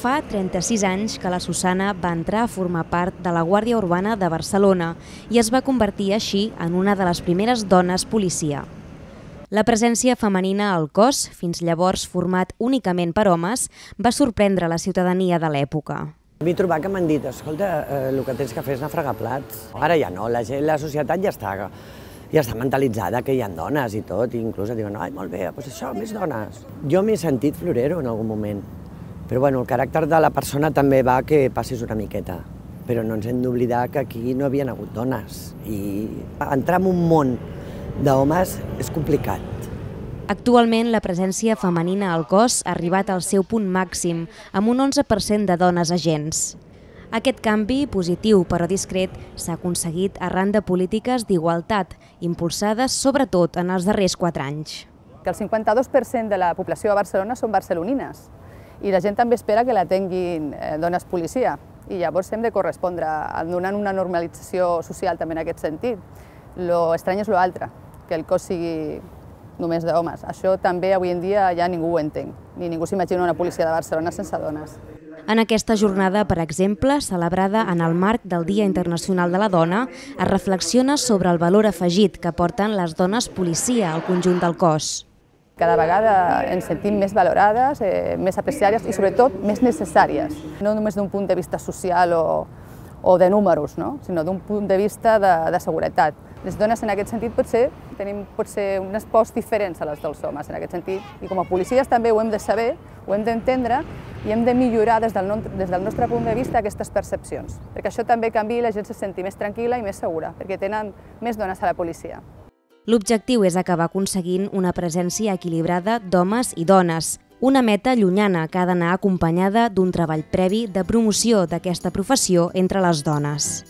Fa 36 anys que la Susana va entrar a formar part de la Guàrdia Urbana de Barcelona i es va convertir així en una de les primeres dones policia. La presència femenina al cos, fins llavors format únicament per homes, va sorprendre la ciutadania de l'època. M'he trobat que m'han dit, escolta, el que tens que fer és anar a fregar plats. Ara ja no, la societat ja està mentalitzada que hi ha dones i tot, i inclús diuen, ai, molt bé, doncs això, més dones. Jo m'he sentit florero en algun moment, però bueno, el caràcter de la persona també va que passis una miqueta, però no ens hem d'oblidar que aquí no havien hagut dones, i entrar en un món d'homes és complicat. Actualment, la presència femenina al cos ha arribat al seu punt màxim, amb un 11% de dones agents. Aquest canvi, positiu però discret, s'ha aconseguit arran de polítiques d'igualtat, impulsades sobretot en els darrers 4 anys. Que el 52% de la població de Barcelona són barcelonines i la gent també espera que la tinguin dones policia i llavors hem de correspondre donant una normalització social també en aquest sentit. Lo estrany és l'altre, que el cos sigui només d'homes. Això també avui en dia ja ningú ho entén, ni ningú s'imagina una policia de Barcelona sense dones. En aquesta jornada, per exemple, celebrada en el marc del Dia Internacional de la Dona, es reflexiona sobre el valor afegit que porten les dones policia al conjunt del cos. Cada vegada ens sentim més valorades, més apreciades i sobretot més necessàries, no només d'un punt de vista social o de números, sinó d'un punt de vista de seguretat. Les dones en aquest sentit tenim unes pors diferents a les dels homes en aquest sentit i com a policies també ho hem de saber, ho hem d'entendre i hem de millorar des del nostre punt de vista aquestes percepcions, perquè això també canvia i la gent se senti més tranquil·la i més segura, perquè tenen més dones a la policia. L'objectiu és acabar aconseguint una presència equilibrada d'homes i dones, una meta llunyana que ha d'anar acompanyada d'un treball previ de promoció d'aquesta professió entre les dones.